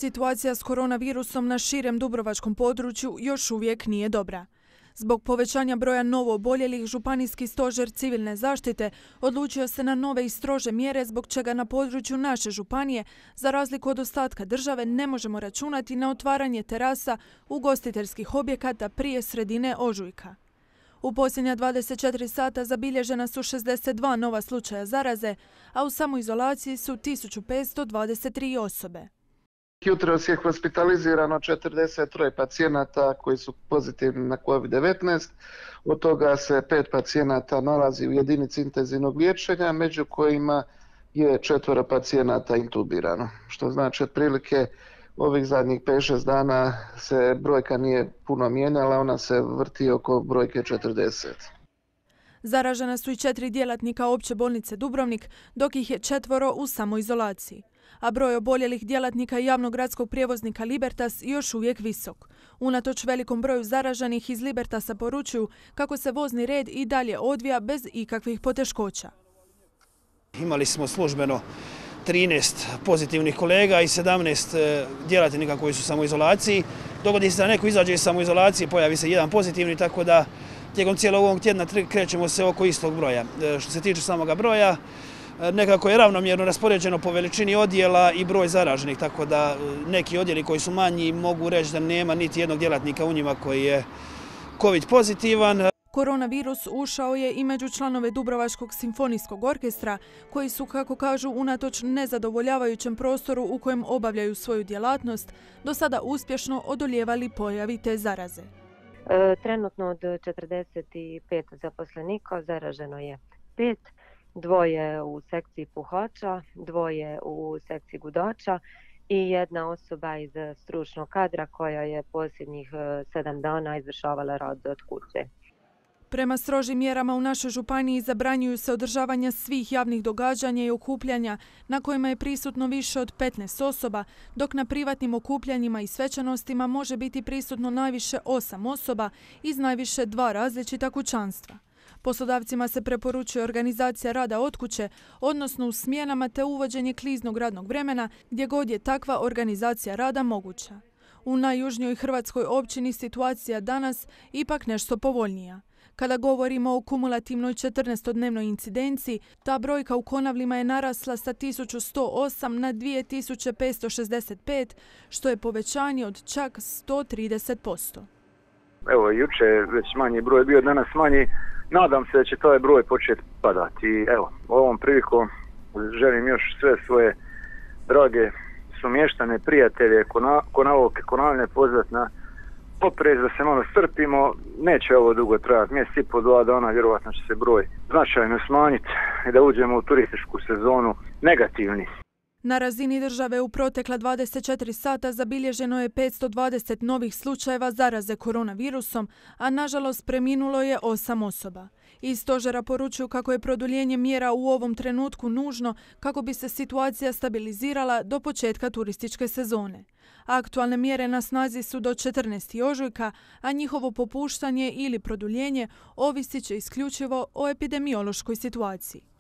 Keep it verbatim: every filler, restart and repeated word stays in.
Situacija s koronavirusom na širem dubrovačkom području još uvijek nije dobra. Zbog povećanja broja novo oboljelih, Županijski stožer civilne zaštite odlučio se na nove i strože mjere zbog čega na području naše županije, za razliku od ostatka države, ne možemo računati na otvaranje terasa ugostiteljskih objekata prije sredine ožujka. U posljednja dvadeset četiri sata zabilježena su šezdeset dva nova slučaja zaraze, a u samoizolaciji su tisuću petsto dvadeset tri osobe. Jutros je hospitalizirano četrdeset tri pacijenata koji su pozitivni na kovid devetnaest. Od toga se pet pacijenata nalazi u jedinici intenzivnog liječenja, među kojima je četvoro pacijenata intubirano. Što znači otprilike ovih zadnjih pet šest dana se brojka nije puno mijenjala, ona se vrti oko brojke četrdeset. Zaražena su i četiri djelatnika opće bolnice Dubrovnik, dok ih je četvoro u samoizolaciji. A broj oboljelih djelatnika javnog gradskog prijevoznika Libertas još uvijek visok. Unatoč velikom broju zaraženih iz Libertasa poručuju kako se vozni red i dalje odvija bez ikakvih poteškoća. Imali smo službeno trinaest pozitivnih kolega i sedamnaest djelatnika koji su u samoizolaciji. Dogodi se da neko izađe iz samoizolacije, pojavi se jedan pozitivni, tako da tijekom cijelog ovog tjedna krećemo se oko istog broja. Što se tiče samoga broja, nekako je ravnomjerno raspoređeno po veličini odjela i broj zaraženih, tako da neki odjeli koji su manji mogu reći da nema niti jednog djelatnika u njima koji je covid pozitivan. Koronavirus ušao je i među članove Dubrovačkog simfonijskog orkestra, koji su, kako kažu, unatoč nezadovoljavajućem prostoru u kojem obavljaju svoju djelatnost, do sada uspješno odoljevali pojavi te zaraze. Trenutno od četrdeset pet zaposlenika zaraženo je pet, dvoje u sekciji puhača, dvoje u sekciji gudača i jedna osoba iz stručnog kadra koja je posljednjih sedam dana izvršavala rad od kuće. Prema strožim mjerama u našoj županiji zabranjuju se održavanja svih javnih događanja i okupljanja na kojima je prisutno više od petnaest osoba, dok na privatnim okupljanjima i svečanostima može biti prisutno najviše osam osoba iz najviše dva različita kućanstva. Poslodavcima se preporučuje organizacija rada od kuće, odnosno u smjenama, te uvođenje kliznog radnog vremena gdje god je takva organizacija rada moguća. U najjužnijoj hrvatskoj općini situacija danas ipak nešto povoljnija. Kada govorimo o kumulativnoj četrnaestodnevnoj incidenciji, ta brojka u Konavlima je narasla sa tisuću sto osam na dvije tisuće petsto šezdeset pet, što je povećanje od čak sto trideset posto. Evo, juče već manji broj bio, danas manji. Nadam se da će taj broj početi padati. Evo, ovom prilikom želim još sve svoje drage sumještane, prijatelje, konavoke, konavljne pozvati na oprez, da se malo strpimo. Neće ovo dugo trajati, mjesec i po dva dana vjerovatno će se broj značajno smanjiti i da uđemo u turističku sezonu negativni. Na razini države u protekla dvadeset četiri sata zabilježeno je petsto dvadeset novih slučajeva zaraze koronavirusom, a nažalost preminulo je osam osoba. Iz stožera poručuju kako je produljenje mjera u ovom trenutku nužno kako bi se situacija stabilizirala do početka turističke sezone. Aktualne mjere na snazi su do četrnaestog ožujka, a njihovo popuštanje ili produljenje ovisit će isključivo o epidemiološkoj situaciji.